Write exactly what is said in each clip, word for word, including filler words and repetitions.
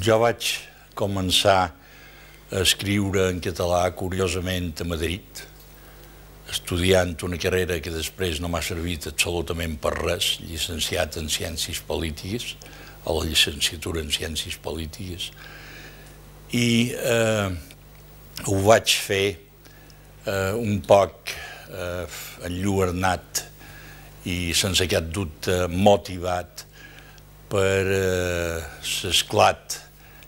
Jo vaig començar a escriure en català, curiosament, a Madrid, estudiant una carrera que després no m'ha servit absolutament per res, llicenciat en Ciències Polítiques, a la llicenciatura en Ciències Polítiques, i eh, ho vaig fer eh, un poc eh, enlluernat i sense cap dubte motivat per eh, l'esclat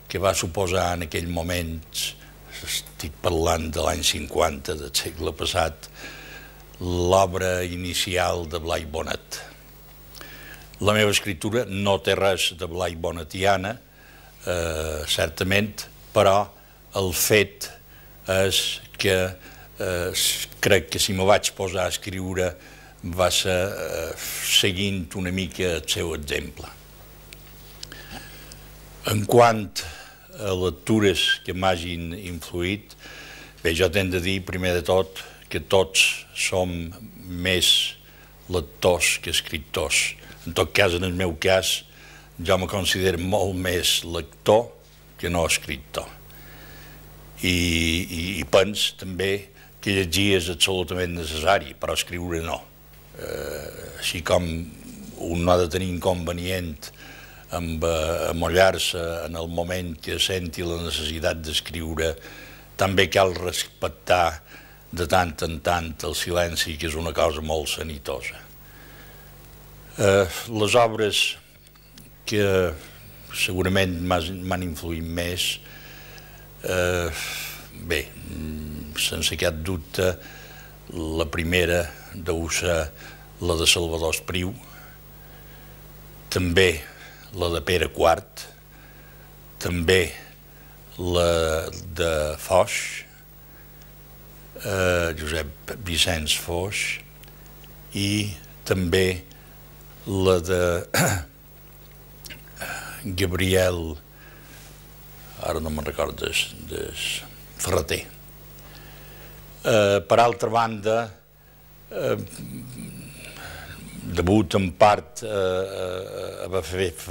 que va suposar en aquell moment, estic parlant de l'any cinquanta del segle passat, l'obra inicial de Blai Bonet. La meva escriptura no té res de Blai Bonetiana, eh, certament, però el fet és que eh, crec que si me vaig posar a escriure va ser eh, seguint una mica el seu exemple. En quant a lectures que m'hagin influït, bé, jo tenc de dir, primer de tot, que tots som més lectors que escriptors. En tot cas, en el meu cas, jo me considero molt més lector que no escriptor. I, i, i pens també que llegir és absolutament necessari, però escriure no. Eh, així com un no ha de tenir inconvenient amb amollar-se en el moment que senti la necessitat d'escriure, també cal respectar de tant en tant el silenci, que és una cosa molt sanitosa. Eh, les obres que segurament m'han influït més, eh, bé, sense cap dubte, la primera deu ser la de Salvador Espriu, també la de Pere Quart, també la de Foix, eh, Josep Vicenç Foix, i també la de Gabriel, ara no me'n recordo, de Ferreter. Eh, per altra banda, eh, debut en part a haver fet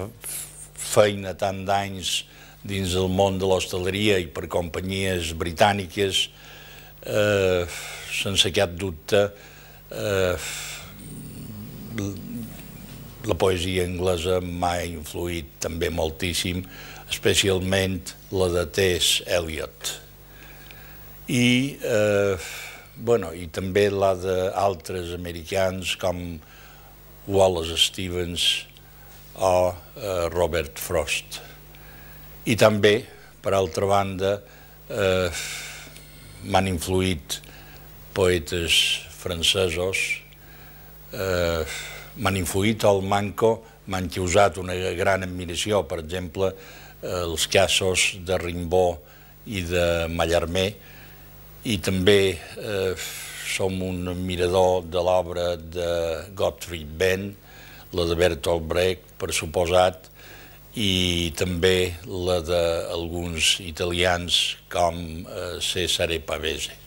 feina tant d'anys dins el món de l'hostaleria i per companyies britàniques, sense cap dubte la poesia anglesa m'ha influït també moltíssim, especialment la de T S Eliot. I, bueno, i també la d'altres americans com Wallace Stevens o Robert Frost. I també, per altra banda, m'han influït poetes francesos, m'han influït al manco, m'han causat una gran admiració, per exemple, els casos de Rimbaud i de Mallarmé, i també som un admirador de l'obra de Gottfried Benn, la de Bertolt Brecht, per suposat, i també la d'alguns italians com Cesare Pavese.